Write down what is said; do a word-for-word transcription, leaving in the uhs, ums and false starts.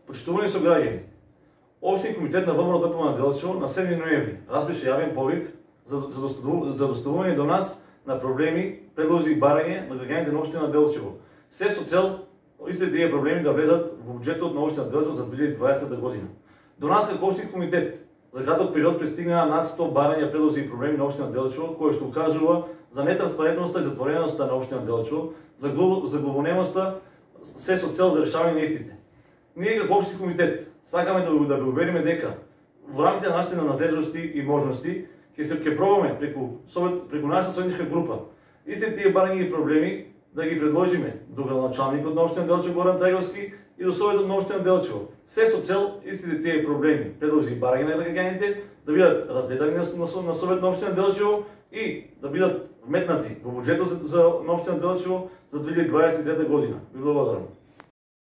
Почитувани сограѓани, Општински комитет на ВМРО ДПМН на Делчево на седми ноември распише јавен повик за, за, за доставување до нас на проблеми, предлози и барање на граѓаните на општина Делчево. Се со цел истите тие проблеми да влезат во буџетот на општина Делчево за две илјади и дваесета година. До нас како Општински комитет за краток период пристигнаа над сто барања, предлози и проблеми на општина Делчево, кои што укажува за нетранспарентноста и затвореноста на општина Делчево, за главонемоста, се со цел за решавање на истите. Ние како Општински комитет сакаме да, да ви увериме дека во рамките на нашите надлежности и можности ќе се ќе пробаме преку совет, преку нашата советничка група истите тие барања и проблеми да ги предложиме до градоначалникот на општина Делчево Горан Трајговски и до советот на општина Делчево. Се со цел истите тие проблеми, предлози и барања на граѓаните да бидат разгледани на, на, на совет на општина Делчево и да бидат вметнати во буџетот за, за на општина Делчево за две илјади и дваесет и трета година. Ви благодарам.